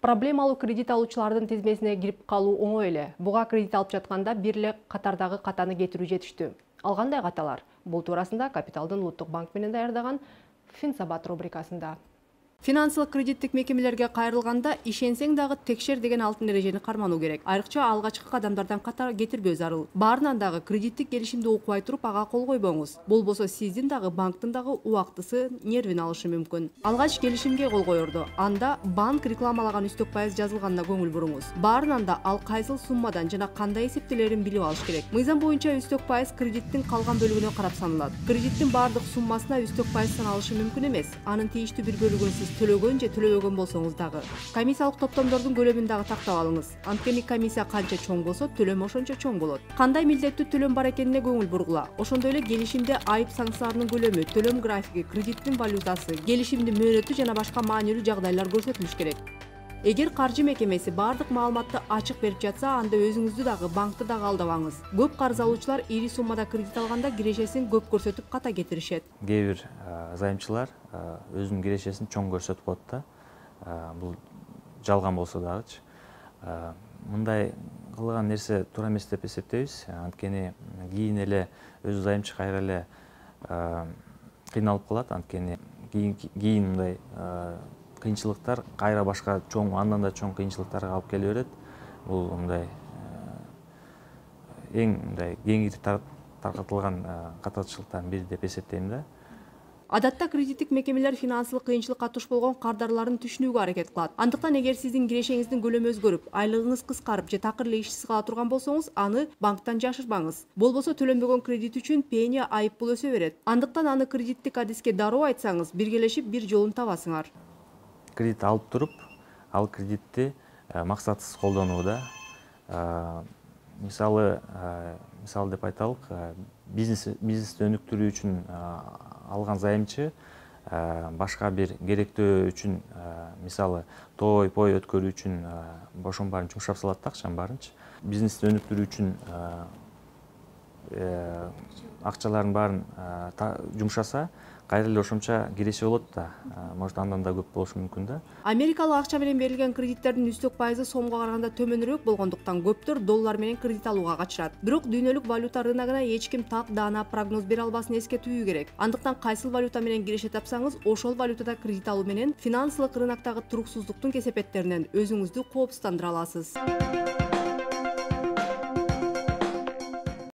Проблемалуу кредит алуучулардын тизмесине кирип калуу оңой эле. Буга кредит алып жатканда бир эле катардагы катаны кетирүү жетиштүү. Ал кандай каталар? Бул туурасында Капиталдын Улуттук банк менен даярдаган Финсабат рубрикасында. Финансылык кредиттик мекемелерге кайрылганда ишенсең дагы текшер деген алтын эрежени кармануу керек. Айрыкча алгачкы кадамдардан ката кетирбөө зарыл. Баарынан дагы кредиттик келишимди укпай туруп ага кол койбоңуз. Болбосо сиздин дагы банктын дагы убактысы нервин алышы мүмкүн. Алгач келишимге кол коердо. Анда банк рекламалаган үстөк пайыз жазылганына көңүл буруңуз. Баарынан да ал кайсыл суммадан жана кандай эсептелерин билип алыш керек. Мыйзам боюнча үстөк пайыз кредиттин калган бөлүгүнө карап саналат. Кредиттин баардык суммасына үстөк пайыз саналышы мүмкүн эмес. Анын тийиштүү бир бөлүгүн сиз төлөгөн же төлөбөгөн болсоңуз дагы. Комиссиялык топтомдордун көлөмүн дагы тактап алыңыз. Анткени комиссия канча чоң болсо, төлөм ошончо чоң болот. Кандай милдеттүү төлөм бар экенине көңүл бургула. Ошондой эле келишимде айып санкцияларынын көлөмү, төлөм графиги, кредиттин валютасы, келишимдин мөөнөтү жана башка маанилүү жагдайлар көрсөтүлүш керек. Эгер каржы мекемеси бардык маалыматты ачык берип жатса, анда өзүңүздү дагы, банкты дагы алдабаңыз. Көп карыз алуучулар ири суммада кредит алганда кирешесин көп көрсөтүп ката кетиришет. Кээ бир займчылар өзүнүн кирешесин чоң көрсөтүп коет да. Бул жалган болсо дагычы. Мындай кылган нерсе туура эмес деп эсептейбиз. Анткени кийин эле өзү займчы кайра эле кыйналып калат. Анткени кийин мындай кыйынчылыктар кайра башка чоң, андан да чоң кыйынчылыктарга алып келе берет. Бул мындай эң мындай кеңири таркатылган катачылыктардын бири деп эсептейм да. Адатта кредиттик мекемелер финансылык кыйынчылыкка туш болгон кардарларын түшүнүүгө аракет кылат. Андыктан эгер сиздин кирешеңиздин көлөмү өзгөрүп, айлыгыңыз кыскарып же такыр эле ишсиз кала турган болсоңуз, аны банктан жашырбаңыз. Болбосо төленбөгөн кредит үчүн пени айып пул өсө берет. Андыктан аны кредиттик адиске дароо айтсаңыз, биргелешип бир жолун табасыңар. Кредит алып туруп, ал кредитти максатсыз колдонуу да. Мисалы деп айталык, бизнести өнүктүрүү үчүн алган займчы башка бир керектөө үчүн, мисалы той-пой өткөрүү үчүн ошонун баарын жумшап салат да, акчанын баарынчы. Бизнести өнүктүрүү үчүн акчаларын баарын жумшаса, кайра эле ошонча киреше болот да. Может, андан да көп болушу мүмкүн да. Америкалык акча менен берилген кредиттердин үстөк пайызы сомго караганда төмөнүрөөк болгондуктан көптөр доллар менен кредит алууга качышат. Бирок дүйнөлүк валюта рыногуна эч ким так даана прогноз бере албасын эскертүү керек. Андыктан кайсыл валюта менен киреше тапсаңыз, ошол валютада кредит алуу менен финансылык рыноктогу туруксуздуктун кесепеттеринен өзүңүздү коопсуздандыра аласыз.